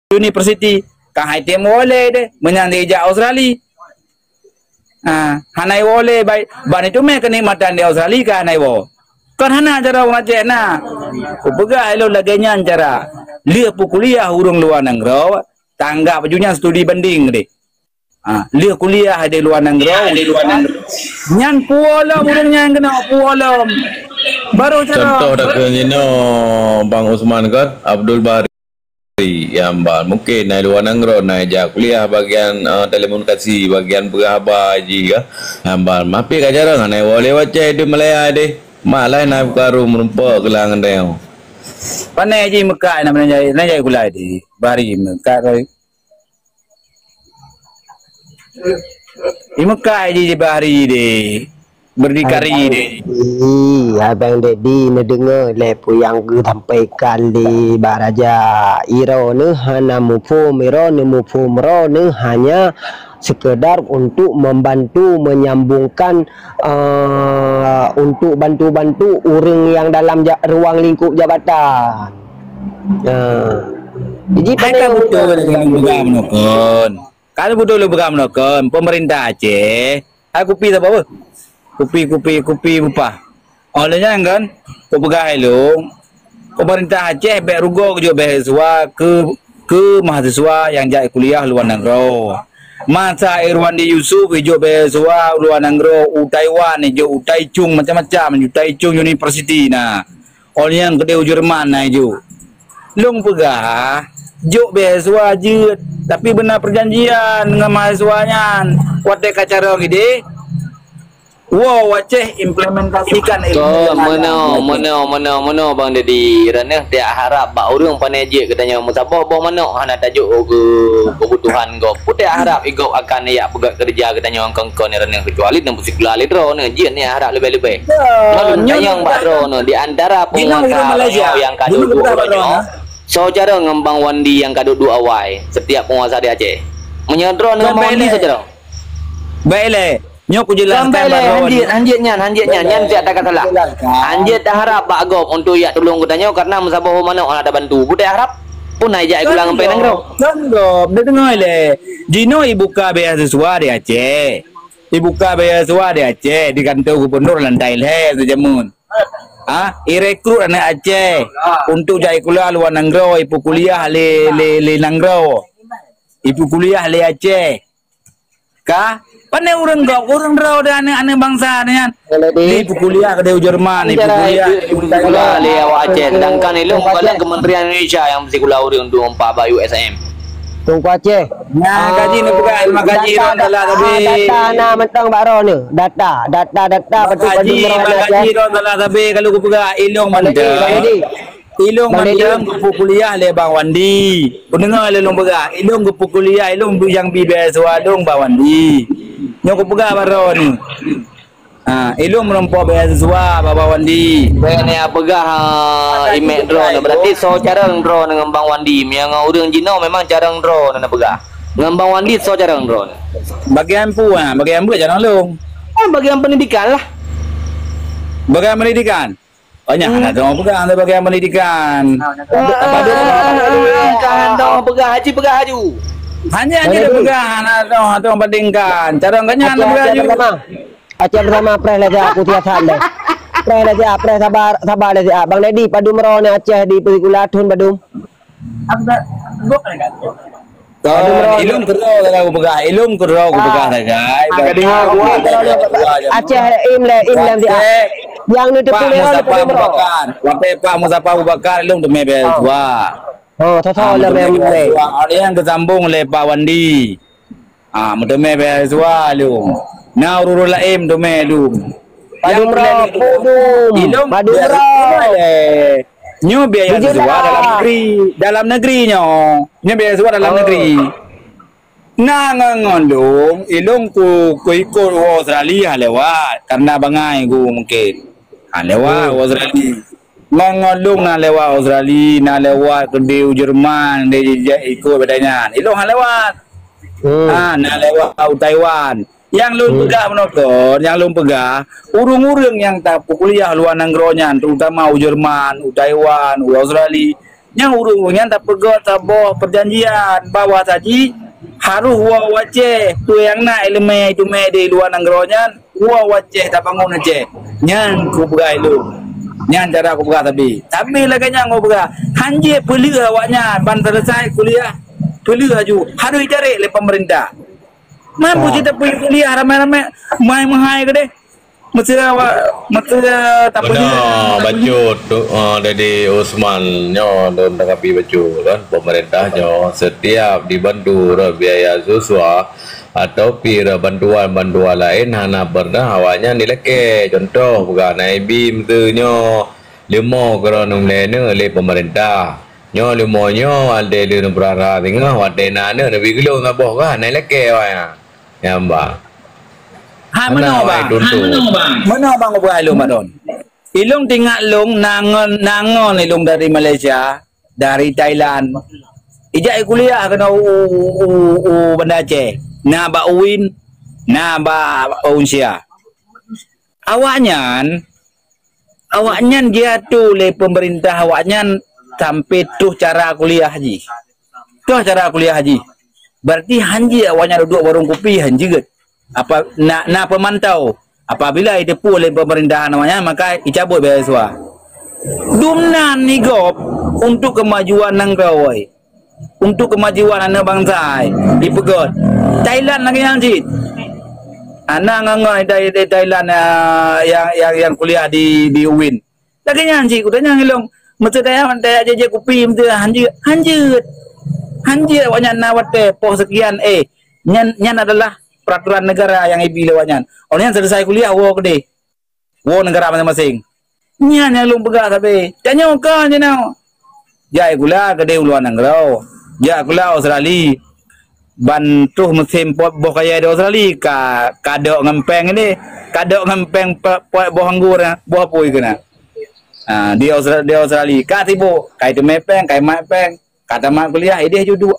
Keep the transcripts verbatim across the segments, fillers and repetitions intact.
university, ka hai tem woe lé deh, meunyan dijak Australia. Ha, hana iwoe lé, bai, ban itu meh keunikmatan di Australia ka hana iwoe. Kon hana cara ureueng Aceh na. Kupeugah ilôn lagèe nyan cara. Lheueh peukuliah ureueng luwa nanggroe, tanggap baju nyan studi banding deh. Ha, lheueh kuliah di luwa nanggroe, nyan puwoe lom ureueng nyan keunoe, puwoe lom. Baru cara. Contoh dak keunoe Bang Usman kan, Abdul Bahri. Nyang ban mungken na luwa nanggroe, na ijak kuliah bagian, eh, telekomunikasi, bagian peugah haba jih ka. Nyang ban mapi ka jarang, na iwoe lé wacée di Malaya deh. Mak laén na buka rum meureumpok keulang ngon tanyoe. Pane jih meukat na meunajai, najai gulai deh. Bari meukat roi. Imeukai jih bak hari deh. Berdikari deh. Ih, Abang Dedi neudeungoe lé peue nyang geusampaikan lé Bak Raja. Droeneuh hana muphom, droeneuh muphom, droeneuh hanya sekedar untuk membantu menyambungkan, eh, untuk bantu-bantu ureueng nyang dalam ja-, ruang lingkup jabatan. Nah, jadi hai ka beutôi lôn peugah meunoe kon. Ka beutôi lôn peugah meunoe kon, pemerintah Aceh, hai kupi saboh beuh. Kupi, kupi, kupi bupah. Óh lheueh nyan kan, kupeugah ilôn, pemerintah Aceh bèk rugoe geujok beasiswa keu, keu mahasiswa nyang jak kuliah luwa nanggroe. Masa Irwandi Yusuf ijok beasiswa luwa nanggroe, u Taiwan ijok, u Taichung macam-macam, u Taichung University na. Óh lheueh nyan keudeh u Jerman na ijok. Lôn peugah, jok beasiswa jeuet, tapi beuna peujanjian ngon mahasiswa nyan. Watèe ka carông idéh, woe u Aceh implementasikan ilmu. Kon, meunoe, meunoe, meunoe, meunoe, Bang Dedi. Droeneuh tiak harab bak ureueng pane jeuet geutanyoe meusaboh boh manok hana tajok keu keubutuhan gob. Peue tiak harab i gob akan jak peugöt keureuja geutanyoe kon-kon droeneuh, keucuali neusikula lé droeneuh, jeuet neuharab leubeh-leubeh. Kon, nyoe tanyong bak droeneuh, di antara penguasa Malaysia nyang ka duek-duek uroe nyoe, soe carông ngon Bang Wandi nyang ka duek-duek awai setiap penguasa di Aceh? Meunyoe droeneuh ngon Bang Wandi, soe carông? Baik lé, nyoe kujelaskan bak droeneuh. Hanjeuet, hanjeuet nyan, hanjeuet nyan, nyan siat takat salah. Hanjeuet taharab bak gob untuk jak tulông geutanyoe karena meusaboh manok hana tabantu. Peue taharab? Pun hai jak kulang ngon nanggroe. Kon gob, neudeungoe lé. Jinoe ibuka beasiswa di Aceh. Ibuka beasiswa di Aceh, di kantor gubernur lantai lhèe sijameun. Ha, irekrut aneuk Aceh untuk jak ikuliah luwa nanggroe, ipeukuliah lé, lé, lé nanggroe. Ipeukuliah lé Aceh. Ka, pane ureueng gob, ureueng droe dan aneuk-aneuk bansa nyan. Ipeukuliah keudeh u Jerman, ipeukuliah. Ipeukuliah lé awak Aceh, sedangkan ilôn bukan Kementerian Indonesia nyang sikula ureueng dua empat bak U S M. Teungku Aceh. Nah, kaji ni bukan, maka kaji data, data, data, data na mantong bak droeneuh. Data, data, data, betul, betul, betul, Aceh. Maka kaji droeneuh salah sabe kalau kupeugah ilôn mantong. Ilôn mantong geupeukuliah lé Bang Wandi. Kudeungoe lé lôn peugah, ilôn geupeukuliah, ilôn nyang bi beasiswa lôn Bang Wandi. Nyoe kupeugah bak droeneuh. Ha, ilôn meurumpok beasiswa bak Bang Wandi. Bèk neupeugah, ha, imeuk droeneuh. Berarti soe carông droeneuh ngon Bang Wandi. Meunyoe ngon ureueng jinoe memang carông droeneuh neupeugah. Ngon Bang Wandi soe carông droeneuh. Bagian peue, ha, bagian peue carông lôn? Oh, bagian pendidikan lah. Bagian pendidikan? Banyak hana droe peugah untuk bagian pendidikan. Apa tu? Ka hana droe peugah, haji peugah aju. Hanya, hanya dia peugah, hana droe, hana droe bandingkan. Carông geuh nyan peugah aju. Aceh bersama preh lé siat, aku tiap saat deh. Preh lé siat, preh sabar, sabar lé siat. Bang Dedi, padum droeneuh Aceh di Peusikula thon padum? Kon, ilôn keudroe ka kupeugah, ilôn keudroe kupeugah sagai. Aceh im lé, im lé siat. Nyang neuteupeue lé Pak Muzaffar Abu Bakar. Watèe Pak Muzaffar Abu Bakar ilôn teumé beasiswa. Oh, soe-soe lé memang. Ada nyang geusambong lé Pak Wandi. Ah, meuteumé beasiswa lôn. Na ureueng laén meuteumé lôn. Padum droe, padum. Ilôn padum droe. Nyoe beasiswa dalam negeri, dalam negeri nyoe. Nyoe beasiswa dalam negeri. Na ngon, ngon lôn, ilôn ku, ku ikot u Australia lewat, karena bangai ku mungkin. Ha, lewat u Australia. Ngon, ngon lôn na lewat Australia, na lewat keudeh u Jerman, di, di, ikot bak nyan. Ilôn ha lewat. Ha, na lewat u Taiwan. Nyang lôn peugah meunoe kon, nyang lôn peugah, ureueng-ureueng nyang tapeukuliah luwa nanggroe nyan, terutama u Jerman, u Taiwan, u Australia, Nyang ureuëng nyan tapeugöt saboh peujanjian bahwa saji harôh woe u Aceh, peue nyang na iéleumé iteumé di luwa nanggroe nyan, woe u Aceh tabangun Aceh. Nyan kupeugah ilôn. Nyan cara kupeugah sabe. Sabe lagée nyan kupeugah. Hanjeuet peuleueh awaknyan ban seuleusoe kuliah, peuleueh laju. Harôh itarek lé peumeurintah. Mampu cit tapeugah kuliah ramé-ramé, meuhai-meuhai keudeh. Meusti awak, meusti tapeugah. Beuna, bacut tu, ah, Dedi Usman nyoe lôn tanggapi bacut kan. Peumeurintah nyoe setiap dibantu rot biaya siswa atau pi rot bantuan-bantuan laén hana pernah awaknyan dilakée. Contoh peugah na ibi meusti nyoe leumo keudroe neulakée lé peumeurintah. Nyoe leumo nyoe até lé neupeurara singoh watée na aneuk neubi geulong saboh kah na ilakée awaknyan. Nyang ba. Ha, meunoe bang. Meunoe bang ubak ilôn Madon. Ilôn tingat lôn nangon, nangon ilôn dari Malaysia, dari Thailand. Ijak kuliah keunoe u, u, u, u Banda Aceh. Na bak UIN, na bak Unsia. Awaknyan, awaknyan jiatur lé peumeurintah awaknyan sampai troh cara kuliah jih. Troh cara kuliah jih. Berarti hanjeuet awaknyan duduek warong kupi hanjeuet. Apa na, na peumantau. Apabila iteupeue lé peumeurintah awaknyan maka icabot beasiswa. Dumnan igop untuk kemajuan nanggroe. Untuk kemajuan aneuk bansa hai, ipeugöt. Thailand lagée nyan cit. Hana ngon-ngon dari, dari Thailand, ah, yang, yang, yang kuliah di, di UIN. Lagée nyan cit kutanyong ilôn. Meusti daya, daya jejak kupi meusti hanjeuet, hanjeuet. Hanjeuet awaknyan na watée poh sekian, eh, nyan, nyan adalah peraturan negara yang ibi lé awaknyan. Awaknyan selesai kuliah woe keudeh. Woe negara maséng-maséng. Nyan nyang lôn peugah sabe. Tanyoe ka jinoe. Jak sikula keudeh u luwa nanggroe. Jak sikula Australia. Ban troh musém pot boh kayèe di Australia ka, ka dok ngon péng deh. Ka dok ngon péng pot, pot boh anggô na, boh apui keunan. Ha, di Austra-, di Australia ka sibok, ka iteumé péng, ka imat péng, ka tamat kuliah, ideh ju duek.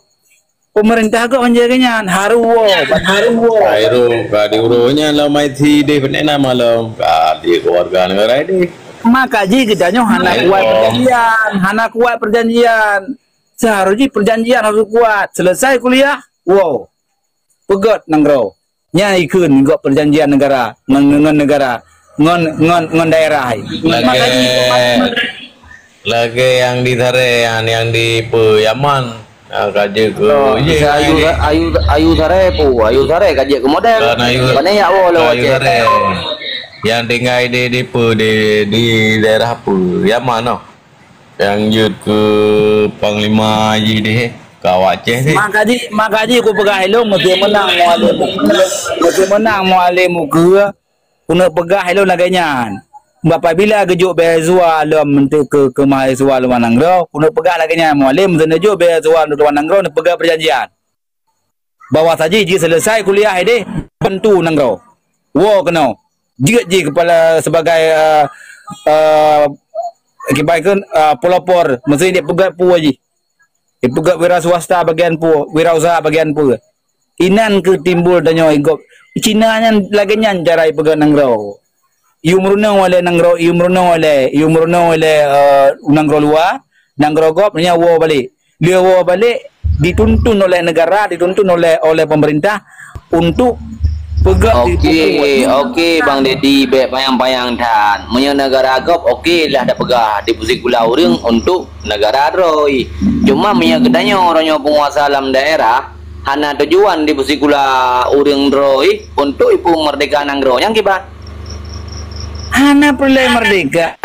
Peumeurintah gob hanjeuet lagée nyan, harôh woe, ban harôh woe. Ka irôh, ka diuroe nyan lom I T deh, beunéh na malom, ka di keuluwarga neugara deh. Maka jih geutanyoe hana kuat peujanjian, hana kuat peujanjian. Seuharôh jih peujanjian harôh kuat. Selesai kuliah, woe. Peugöt nanggroe. Nyan ikheun gob peujanjian neugara ngon, ngon neugara, ngon, ngon, ngon daerah. Lagée, lagée nyang di Sarée nyan, nyang di peue Yaman, nyang ka jeuet keu, oh, iya, ayu, ayu, ayu Sarée peue, ayu Sarée ka jeuet keu model. Kan ayu, pane yak woe lewat ayu Sarée. Nyang tinggai di, di peue, di, di daerah peue Yaman noh. Nyang jeuet keu panglima jih deh, keu awak Aceh deh. Maka jih, maka jih kupeugah ilôn meusti meunang Mualem. Meusti meunang Mualem ukeue, keuneuk peugah ilôn lagée nyan. Apabila geujok beasiswa lom untuk keu, keu mahasiswa luwa nanggroe, keuneuk peugah lagée nyan, Mualem meusti neujok beasiswa untuk luwa nanggroe, neupeugah peujanjian. Bahwa saji jih selesai kuliah ideh bantu nanggroe. Woe keunoe. Jeuet jih kepala sebagai, eh, eh, kiban kheun, eh, pelopor, meusti dipeugöt peue jih. Dipeugöt wira swasta bagian peue, wirausaha bagian peue. Inan keuh timbul tanyoe gob. Cina nyan lagée nyan cara ipeugöt nanggroe. Ié meurunoe lé nanggroe, ié meurunoe lé, ié meurunoe lé, eh, nanggroe luwa, nanggroe gob nyan woe balek. Lheueh woe balek, dituntun oleh negara, dituntun oleh, oleh pemerintah untuk peugah. Oke, oke, Bang Dedi, bék panyang-panyang that. Meunyoe negara gob, oke lah tapeugah di sikula ureuëng untuk negara droe. Cuma meunyoe geutanyoe uroe nyoe peunguasa lam daerah, hana tujuan di sikula ureuëng droe untuk ipeumeurdeka nanggroe nyang kiban. Hana peureulée merdeka.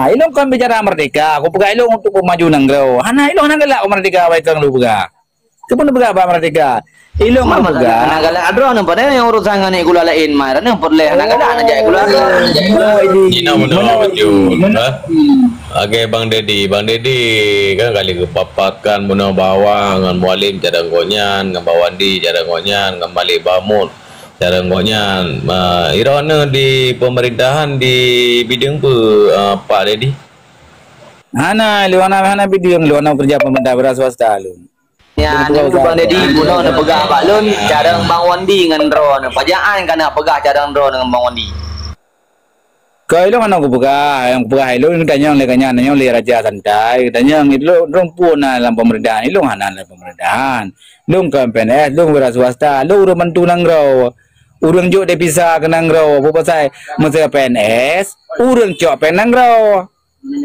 Ilôn kon bicara merdeka, kupeugah ilôn untuk peumaju nanggroe. Hana, ilôn hana galak merdeka, baikon lôn peugah. Keupeue neupeugah bak merdeka? Ilôn merdeka. Hana galak droeneuh, padahai nyang urusan ngon sikula laén, mai droeneuh peureulée hana galak, hana jak sikula droeneuh. Cina meunoe beutôi, ha? Lagée Bang Dedi, Bang Dedi kan kali geupaparkan meunoe bahwa ngon Mualem cara gobnyan, ngon Bawandi cara gobnyan, ngon Malik Bahmud cara gobnyan. Ma, droeneuh di pemerintahan di bidang peue, eh, Pak Dedi? Hana, lôn hana, hana bidang, lôn hana kerja pemerintah, wira swasta lôn. Nyan, Bang Dedi, bunoe neupeugah bak lôn, carông Bang Wandi ngon droeneuh. Pajan ka na peugah carông droeneuh ngon Bang Wandi. Keu ilôn hana kupeugah, nyang kupeugah ilôn tanyong lé gobnyan, tanyong lé Raja Santai, tanyong ilôn, lôn pun na lam pemerintahan, ilôn hana lam pemerintahan. Lôn kon P N S, lôn wira swasta, lôn ureueng bantu nanggroe. Ureueng jok devisa keu nanggroe, peue pasai meuseu P N S, ureueng cok péng nanggroe.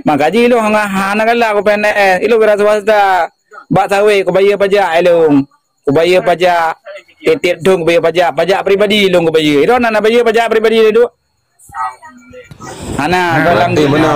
Maka jih ilôn hana, hana galak keu P N S, ilôn wira swasta. Bak sawét kubayeue pajak ilôn. Kubayeue pajak, tiep-tiep thon kubayeue pajak, pajak pribadi ilôn kubayeue. Ilôn hana bayeue pajak pribadi lé duek. Hana, dalam Berarti beuna.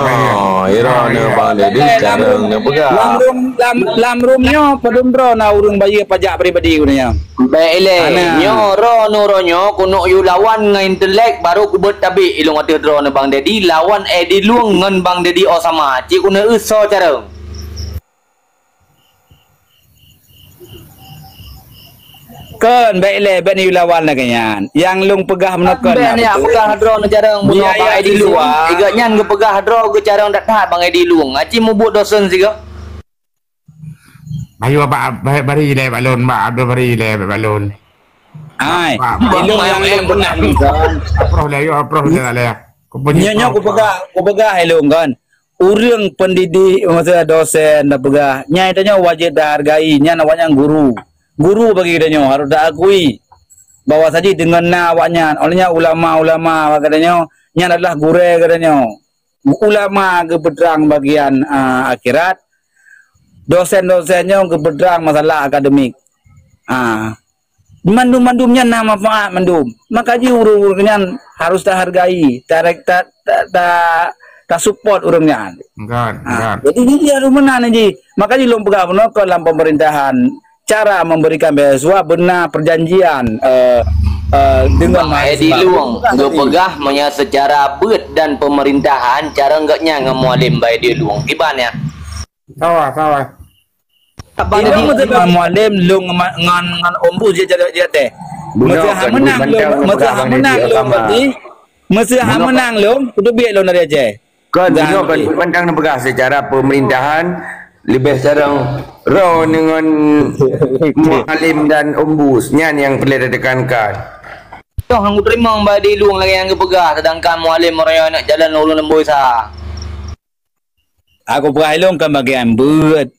Ira ni Bang Dedi sekarang ni peugah. Lam rum, lam, lam rum nyoe padum droe na ureueng bayeue pajak pribadi geuh nyan. Baik ilée, Hana. Nyoe droeneuh droe nyoe keuneuk yue lawan ngon intelek baru kubeuet tabek ilôn ateueh droeneuh Bang Dedi lawan Edi Lueng ngon Bang Dedi Osama. Cit keuneuk eu soe carông. Kon, bèk ilée, bèk neuyue lawan lagèe nyan. Nyang lôn peugah meunoe kon Bèk na neujak beutôi. Peugah droeneuh carông bunoe Bang Edi Lueng. Iga nyan geupeugah droe geucarông that-that Bang Edi Lueng. Aci mubuet dosen sigoe. Bayu abak, ba-, bari ilée bak lôn, bak Abdul bari ilée bak lôn. Ai, Bak, bak, ilôn nyang lôn peugah ni kon. Aproh lé, ayo aproh lé, lé. Nyoe, nyoe kupeugah, kupeugah ilôn kon. Ureueng pendidik, maksudnya dosen, dan peugah, nyan tanyoe wajéb tahargai, nyan awaknyan guru. Guru bagi geutanyoe harôh taakui bahwa saji deungon na awaknyan, oleh nyan ulama-ulama bagi geutanyoe, nyan adalah gurée geutanyoe. Ulama geupeutrang bagian, a, akhirat, dosen-dosen nyoe geupeutrang masalah akademik. A, mandum-mandum nyan na manfaat mandum. Maka jih ureueng-ureueng nyan harôh tahargai, tarek, ta, ta, ta, tasupport ureueng nyan. Kan, ha, kan. Jadi, jih harôh meunan jih. Maka jih lôn peugah bunoe kon lam pemerintahan, cara memberikan beasiswa beuna perjanjian, eh, eh, dengan Bang Edi mahasiswa. Lueng geupeugah meunyoe secara beuet dan pemerintahan, cara geuh nyan ngon Mualem Bang Edi Lueng. Kiban nyan. Sawa, sawa. Ilôn meuseuha Mualem lôn ngon, ngon, ngon Ombus jeuet, jeuet, jeuet teh. Meuseuha meunang lôn, meuseuha meunang lôn berarti, meuseuha meunang lôn, kuteubiet lôn dari Aceh. Kon, bunoe kon, mantong neupeugah secara pemerintahan, leubeh carông droeneuh ngon Mualem dan Ombus. Nyan nyang peureulée teutekankan. Toh han kuteurimong Bang Edi Lueng lagèe nyang geupeugah, sedangkan Mualem meuraya aneuk jalan ulôn lembôi sa. Aku peugah ilôn kan bagian beuet.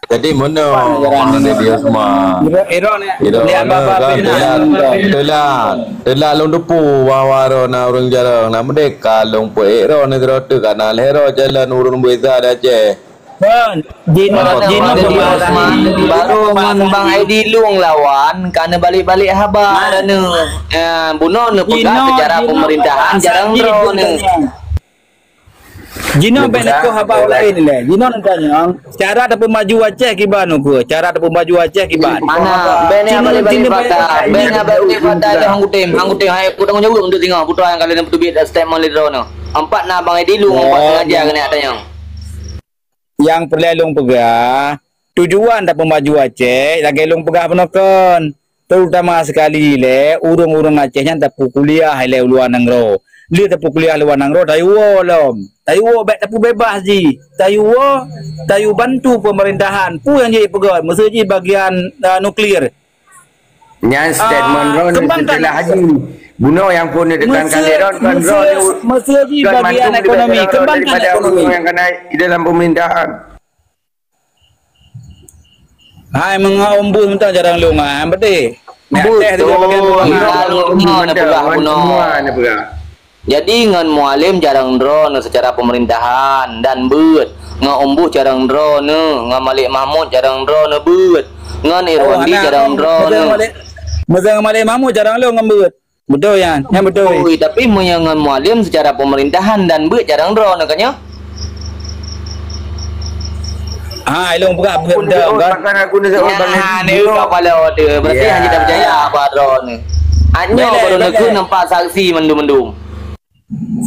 Jadi, meunoe Bang Dedi Osman. Iro, iro ni, Iro ni apa-apa kan ni. Teulat, teulat, teulat lôn teupeu bahwa droeneuh na ureueng carông, na meudeka lôn peuék droeneuh sidroe teuk, ka na lhèe droe jalan ureueng biasa di Aceh. Kan, jinoe, jinoe Bang Dedi Osman, baru ngon Bang Edi Lueng lawan, ka neubalek-balek haba droeneuh. Ya, bunoe neupeugah secara pemerintahan, jarang droeneuh. Jinoe bèk neukoh haba laén ilée. Jinoe neutanyong, cara tapeumaju Aceh kiban ukeue? Cara tapeumaju Aceh kiban? Mana? Bèk neubalek-balek fakta. Bèk neubalek-balek fakta ilée han kutem. Han kutem, hai, kutanggung jaweueb untuk singoh. Putra nyang ka lheueh neuteubiet statement lé droeneuh. Empat na Bang Edi Lueng, empat sengaja keuneuk tanyong. Nyang peureulée lôn peugah, tujuan tapeumaju Aceh, lagèe lôn peugah bunoe kon. Terutama sekali lé ureueng-ureueng Aceh nyan tapeukuliah ilée u luwa nanggroe. Lheueh tapeukuliah luwa nanggroe, tayue woe lom. Tayue woe bèk tapeubeubaih jih. Tayue woe, tayue bantu pemerintahan. Peue nyang jeuet peugöt, meuseu jih bagian, a, nuklir. Nyan statement droeneuh seuteulah haji. Bunoe nyang phon neutekankan lé droeneuh, kon meuseu, droeneuh meuseu jih kon bagian mandum ekonomi. Kembangkan daripada ekonomi. Ureueng nyang ka na di dalam pemerintahan. Hai, meungoh Ombus mantong jarang lôn, ha, beutôi. Beutôi. Nyan teh tu bagian bunoe. Bunoe neupeugah, bunoe. Jadi ngon Mualem jarang droeneuh secara pemerintahan dan beuet. Ngon Ombus jarang droeneuh, ngon Malik Mahmud jarang droeneuh beuet. Ngon Irwandi jarang droeneuh. Meuseu ngon Malik Mahmud jarang lôn ngon beuet. Beutôi nyan, nyan beutôi. Ui, tapi meunyoe ngon Mualem secara pemerintahan dan beuet jarang droeneuh kan nyoe? Ha, ilôn peugah beuet dah kan. Nah, ni kapala tu. Berarti hanya tak percaya apa droeneuh. Hanya baru neukeu nampak saksi mandum-mandum.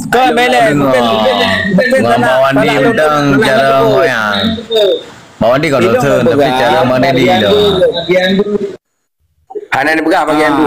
Kau bela, betul, betul, betul. Bang Wandi mantong cara ngoyang. Bang Wandi kalau tu, tapi cara mana dia? Hana neupeugah bagian tu.